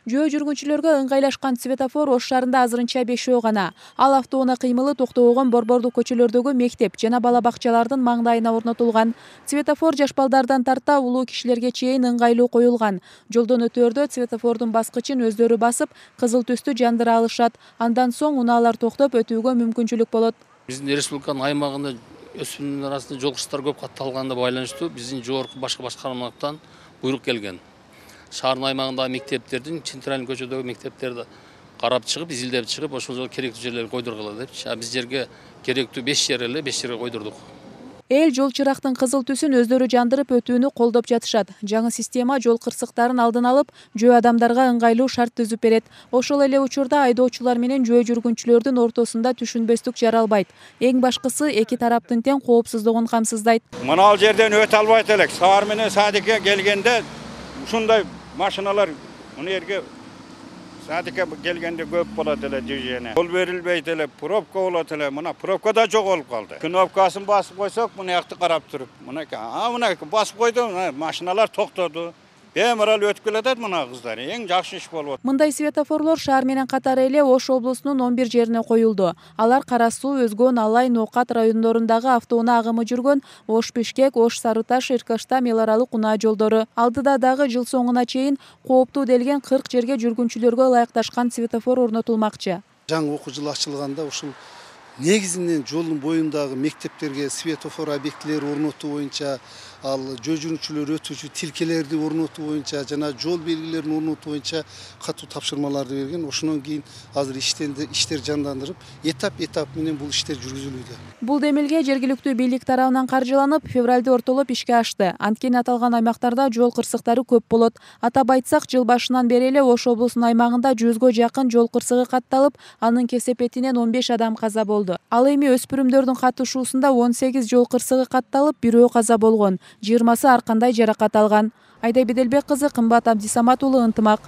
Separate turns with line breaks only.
Жөө жүргүнчүлөргө ыңгайлашкан светофор Ош шаарында азырынча 5 гана. Ал автоунаа кыймылы токтогон Борбордук көчөлөрдөгү мектеп жана бала бакчалардын маңдайына орнотулган. Светофор жаш балдардан тарта улуу кишилерге чейин ыңгайлуу коюлган. Жолдон өтөөрдө светофордун баскычын өздөрү басып, кызыл түстү жандыра алышат. Андан соң унаалар токтоп өтүүгө мүмкүнчүлүк болот.
Биздин республиканын аймагында өспүрүмдөр арасында жол кырсыктары көп катталганына байланыштуу биздин жогорку башка башкармалыктан буйрук келген. Шаардын аймагындагы мектептердин, центральный көчөдөгү мектептерди карап чыгып, изилдеп чыгып, ошол жерге керектүү жерлерди койдургула депчи. Биз жерге керектүү 5 жерге койдурдук.
Эл жол чырактын кызыл түсүн өздөрү жандырып өтүүнү колдоп жатышат. Жаңы система жол кырсыктарын алдын алып, жөө адамдарга ыңгайлуу шарт түзүп берет. Ошол эле учурда айдоочулар менен жөө жүргүнчүлөрдүн ортосунда түшүнбөстүк жаралбайт. Эң башкысы эки тараптын тең коопсуздугун камсыздайт.
Мына ал жерден өтө албайт элек. Саар менен садикке келгенде ушундай машиналар мына жерге садикке келгенде көп болот эле движение. Жол берилбейт эле, пробка болот эле. Мына пробка да жоголуп калды. Кнопкасын басып койсок, мына жакты карап туруп, мына басып койду, машиналар токтоду. Бемарал өтүп келатат мына кыздар. Эң жакшы иш болуп атат.
Мындай светофорлор шаар менен катары эле Ош облусунун 11 жерине коюлду. Алар Кара Суу, Өзгөн, Алай, Ноокат райондорундагы автоунаа агымы жүргөн Ош Бишкек, Ош Сарыташ, Иркаштам эл аралык унаа жолдору. Алдыда дагы жыл соңуна чейин кооптуу делген 40 жерге жүргүнчүлөргө ылайыкташкан светофор орнотулмакчы.
Жаңы окуу жылы ачылганда ушул негизинен жолдун боюндагы мектептерге светофор объектилери орнотуу боюнча, ал жөө жүргүнчүлөр өтүүчү тилкелерди орнотуу боюнча жана жол белгилерин орнотуу боюнча катуу тапшырмаларды берген. Ошондон кийин азыр иштер жандандырып, этап менен бул иштер жүргүзүлүүдө.
Бул демилге жергиликтүү бийлик тарабынан каржыланып, февралда ортолоп ишке ашты. Анткени аталган аймактарда жол кырсыктары көп болот. Атап айтсак, жыл башынан бери эле Ош облусунун аймагында 100га жакын жол кырсыгы катталып, анын кесепетинен 15 адам каза болду. Ал эми өспүрүмдөрдүн катышуусунда 18 жол кырсыгы катталып, бирөө каза болгон, 20сы ар кандай жаракат алган. Айда Беделбек кызы, Кымбат Абдисамат уулу, Ынтымак.